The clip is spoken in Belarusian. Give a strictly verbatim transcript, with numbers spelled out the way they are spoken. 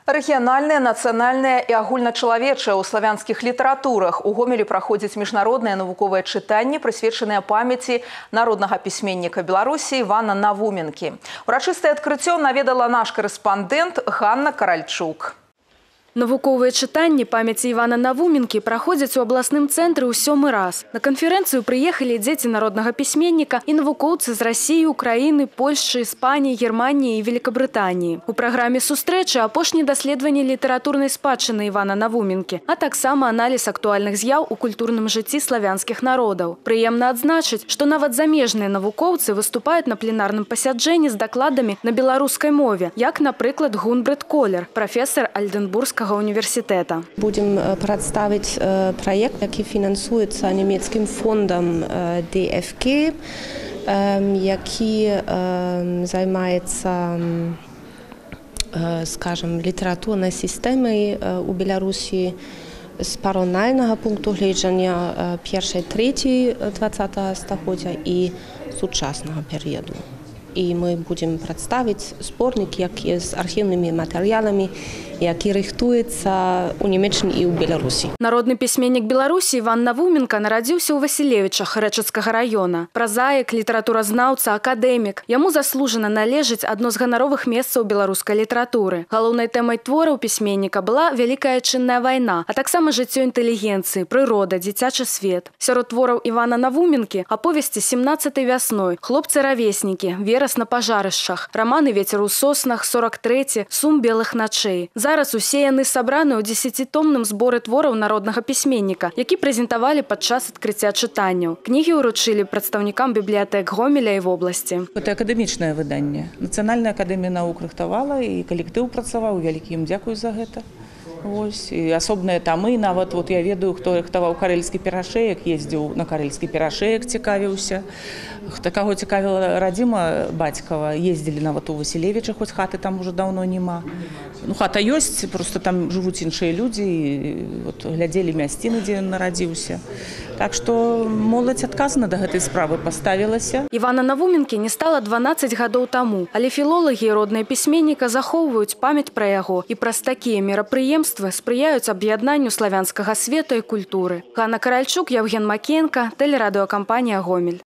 Рэгіянальныя, нацыянальныя і агульначалавечыя ў славянскіх літаратурах. У Гомелі праходзяць міжнародныя навуковыя чытанні, прысвечаныя памяці народнага пісьменніка Беларусі Івана Навуменкі. Урачыстае адкрыццё наведала наш корэспандэнт Ганна Каральчук. Навуковыя чытанні памяці Івана Навуменкі праходзяць у абласным цэнтры ў сёмы раз. На канферэнцыю прыехалі дзеці народнага пісьменніка і навукоўцы з Расіі, Украіны, Польшчы, Іспаніі, Германіі і Великабрытаніі. У праграме сустрэчы апошні даследаванні літаратурнай спадчыны Івана Навуменкі, а таксама аналіз актуальных з'яў у культурным жыцці славянскіх народаў. Прыемна адзначыць, што нават замежныя навукоўцы выступаюць на пленарным пасяджэнні з дакладамі на беларускай мове, як, напрыклад, Гунбрет Колер, прафесор Альденбургскага універсітэта. Будем прадставіць праект, які фінансуецца нямецкім фондам ди эф ке, які займаецца, скажем, літаратурнай сістэмай у Беларусі з параўнальнага пункту гледжання першай трэцяй дваццатага стагоддзя і сучаснага перыяду. І мы будем прадставіць зборнік, які з архіўнымі матэрыяламі, які рыхтуецца ў Нямеччыне і ў Беларусі. Народны пісьменнік Беларусі Іван Навуменка нарадзіўся ў Васілевічах Рэчыцкага раёна. Празаік, літаратуразнаўца, акадэмік. Яму заслужана належыць адно з ганаровых месцаў беларускай літаратуры. Галоўнай тэмай твораў пісьменніка была вялікая чынная вайна, а таксама жыццё інтэлігенцыі, прырода, дзіцячы свет. Сярод твораў Івана Навуменкі аповесці семнаццатай вясной, хлопцы-равеснікі, верас на пажарышчах, раманы «Вецер у соснах», сорок трэці, «Сум белых начэй». Зараз усе яны сабраны ў дзесяцітомным зборы твораў народнага пісьменніка, які прэзентавалі падчас адкрыцця чытанняў. Кнігі ўручылі прадстаўнікам бібліятэк Гомеля і вобласці. Гэта акадэмічнае выданне. Нацыянальная акадэмія навук рыхтавала і калектыў працаваў. Вялікі ім дзякую за гэта. Вось. І асобныя тамы, нават вот я ведаю, хто рыхтаваў карэльскі перашэек, ездзіў на карэльскі перашэек, цікавіўся. Хто каго цікавіла радзіма бацькава, ездзілі нават у Васілевічах, хоць хаты там уже даўно няма. Ну, хата ёсць, просто там жывуць іншыя людзі, і вот, глядзелі мясціны, дзе ён нарадзіўся. Так што моладзь адказна да гэтай справы паставілася. Івана Навуменкі не стала дванаццаць гадоў таму, але філолагі і родныя пісьменніка захоўваюць памяць пра яго і праз такія мерапрыемствы спрыяюць аб'яднанню славянскага света і культуры. Ганна Каральчук, Яўген Макенка, тэлерадыёкампанія «Гомель».